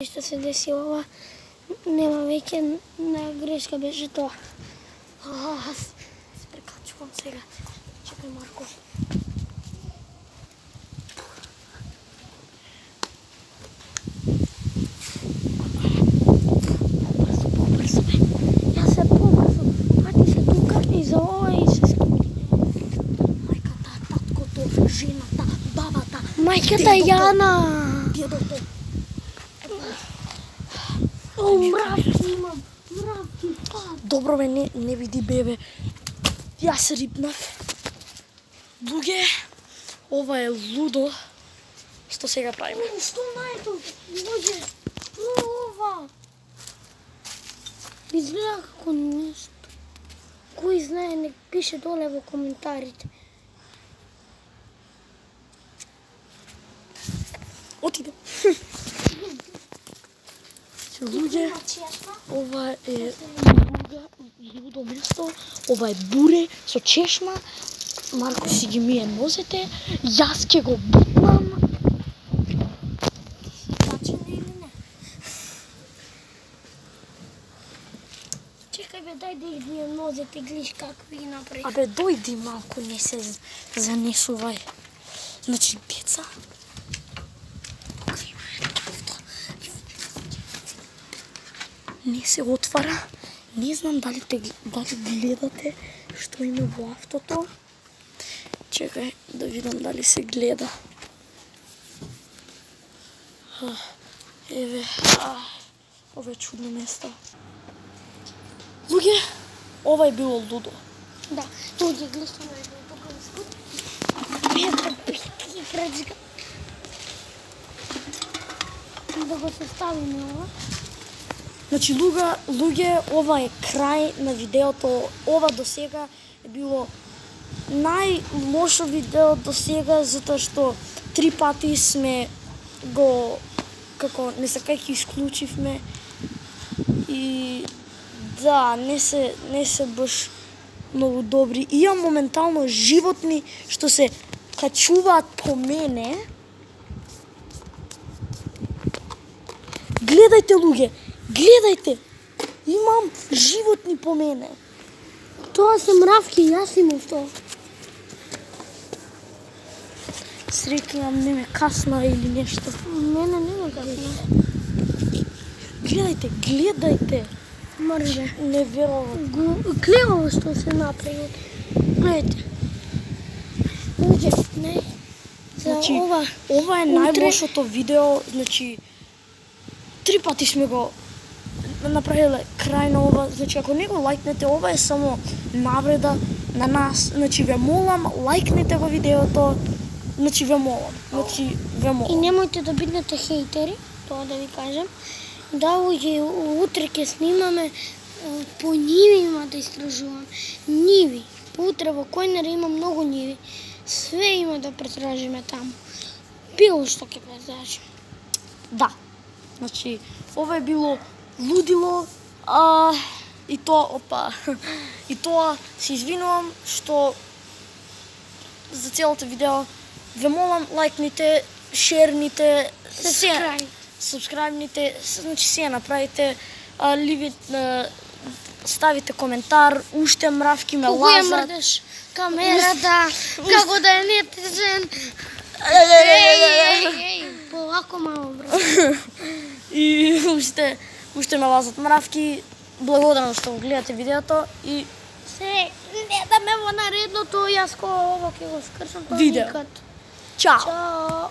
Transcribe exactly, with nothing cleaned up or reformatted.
Што се деси ова, нема веќе на грешка беше тоа. Аз се прекачувам сега. Чекај, Марко. Побрзо, побрзо, бе. Јас се побрзо. Пати се тука и за ова и се скипи. Мајката, таткото, жената, бабата. Мајката Јана. Дедото. О, мравки имам, мравки. Добро бе, не, не види бебе. Јас рипнав. Луѓе, ова е лудо. Што сега правиме? Што најдов? Луѓе, ова. Изгледа како нешто. Кој знае, нек пише доле во коментарите. Отиде. Луѓе, ова е лудо место, ова е буре со чешма, Марко си ги мие нозете, јас ќе го бутнам. Бачене или не? Чекај бе, дај да ги мие нозете, гледаш какви ги направи. Абе, дојди малку, не се занесувај. Значи, деца, не се отвара. Не знам дали те дали гледате што има во автото. Чекај да видам дали се гледа. Еве, ова е чудно место. Луѓе, ова е било лудо. Да, луѓе, гледате на едно тука на скут. Петра, петки, крачка. Да го составиме ова. Значи, луѓе, луѓе, ова е крај на видеото. Ова до сега е било најлошо видео до сега, затоа што три пати сме го, како, не сакајќи исклучивме. И да, не се, не се баш многу добри. Имам моментално животни што се качуваат по мене. Гледајте, луѓе, гледајте, имам животни по мене. Тоа се мравки, јас имам тоа. Среќавам, не ме касна или нешто. Мене не ме касна. Гледајте, гледајте. Мрже. Не верувам. Гледаво што се направи. Гледајте. Луѓе, не. Значи, ова, ова е најлошото видео, значи, три пати сме го направиле крај на ова. Значи, ако не го лајкнете, ова е само навреда на нас. Значи, ве молам, лајкнете го видеото. Значи, ве молам. Значи, ве молам. И немојте да бидете хейтери, тоа да ви кажем. Да, луѓе, утре ќе снимаме, по ниви има да истражувам. Ниви. Утре во Којнер има многу ниви. Све има да претражиме таму. Било што ќе претражиме. Да. Значи, ова е било лудило, а, и тоа, опа, и тоа се извинувам што за целото видео. Ве молам, лајкните, шерните, се, сабскрајбните, значи се направите, а, ливит, а, ставите коментар, уште мравки ме лазат. Кога ја мрдеш камерата, како да е нетежен. Еј, еј, еј, полако мамо, брат. И уште, уште ме лазат мравки. Благодарам што го гледате видеото и се не да ме во наредното, јас ко ово ќе го скршам тоа видео. никад. Чао. Чао.